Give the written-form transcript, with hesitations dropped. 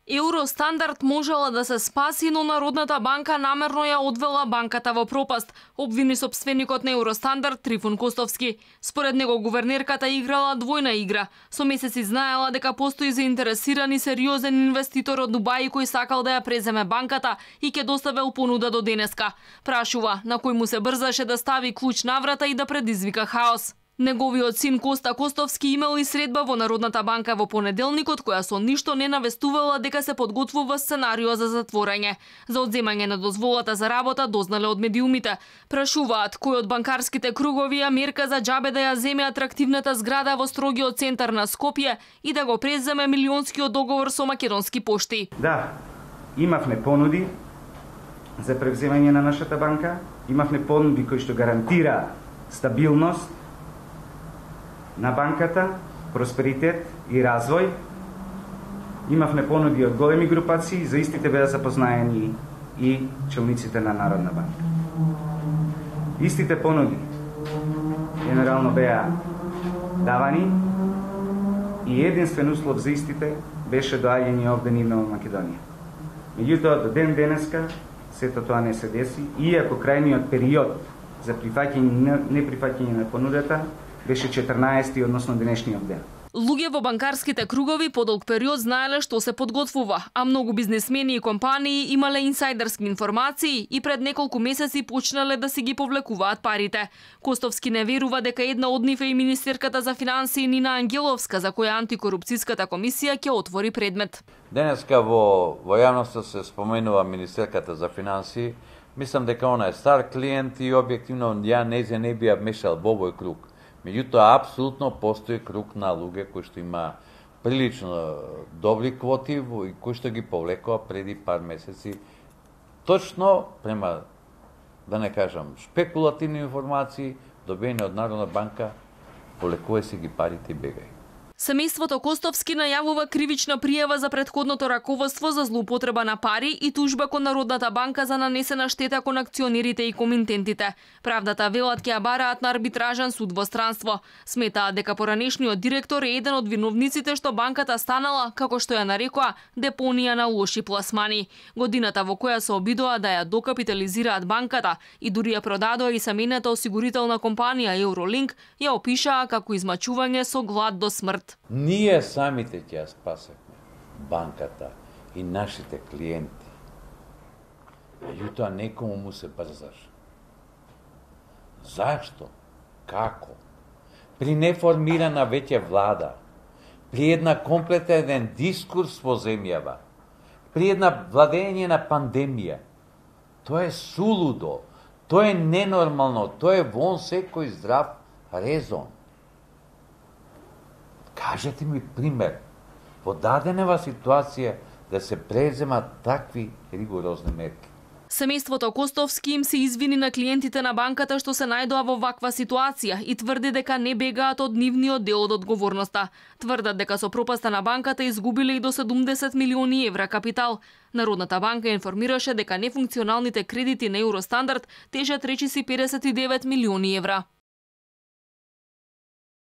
Евростандард можела да се спаси, но Народната банка намерно ја одвела банката во пропаст, обвини сопственикот на Евростандард Трифун Костовски. Според него гувернерката играла двојна игра. Со месеци знаела дека постои заинтересиран и сериозен инвеститор од Дубај кој сакал да ја преземе банката и ќе доставил понуда до денеска. Прашува на кој му се брзаше да стави клуч на врата и да предизвика хаос. Неговиот син Коста Костовски имал и средба во Народната банка во понеделникот, која со ништо не навестувала дека се подготвува сценарио за затворање. За одземање на дозволата за работа дознале од медиумите. Прашуваат кој од банкарските кругови ја мерка за џабе да ја земе атрактивната зграда во строгиот центар на Скопје и да го преземе милионскиот договор со Македонски пошти. Да, имавме понуди за превземање на нашата банка, имавме понуди кои што гарантира стабилност на банката, просперитет и развој. Имавме понуди од големи групации, за истите беа запознаени и челниците на Народна банка. Истите понуди генерално беа давани и единствен услов за истите беше доаѓање овде нивно во Македонија. Меѓутоа, до ден денеска сето тоа не се деси, иако крајниот период за прифаќање неприфаќање на понудата беше 14, односно денешниот ден. Луѓе во банкарските кругови подолг период знаеле што се подготвува, а многу бизнисмени и компании имале инсайдерски информации и пред неколку месеци почнале да си ги повлекуваат парите. Костовски не верува дека една од нив е и министерката за финансии Нина Ангеловска, за која антикорупцијската комисија ќе отвори предмет. Денеска во јавноста се споменува министерката за финансии. Мислам дека она е стар клиент и објективно ја не би ја мешал во овој круг. Меѓутоа, апсолутно постои круг на луѓе кои што има прилично добри квоти и кои што ги повлекува преди пар месеци. Точно према, да не кажам, шпекулативни информации, добиени од Народна банка, повлекува си ги парите и бегај. Семејството Костовски најавува кривична пријава за претходното раководство за злоупотреба на пари и тужба кон Народната банка за нанесена штета кон акционерите и комитентите. Правдата велат ќе ја бараат на арбитражен суд во странство. Сметаат дека поранешниот директор е еден од виновниците што банката станала, како што ја нарекоа, депонија на лоши пласмани. Годината во која се обидоа да ја докапитализираат банката и дури ја продадоа и семејната осигурителна компанија Eurolink, ја опишаа како измачување со глад до смрт. Ние самите ќе ја спасеме банката и нашите клиенти. Меѓутоа некому му се брзаш. Зашто? Како? При неформирана веќе влада, при една комплетен дискурс во земјава, при една владење на пандемија, тоа е сулудо, тоа е ненормално, тоа е вон секој здрав резон. Кажете ми пример, во даденева ситуација да се преземат такви ригорозни мерки. Семејството Костовски им се извини на клиентите на банката што се најдоа во ваква ситуација и тврди дека не бегаат од нивниот дел од одговорноста. Тврдат дека со пропаста на банката изгубиле и до 70 милиони евра капитал. Народната банка информираше дека нефункционалните кредити на Евростандард тежат речиси 59 милиони евра.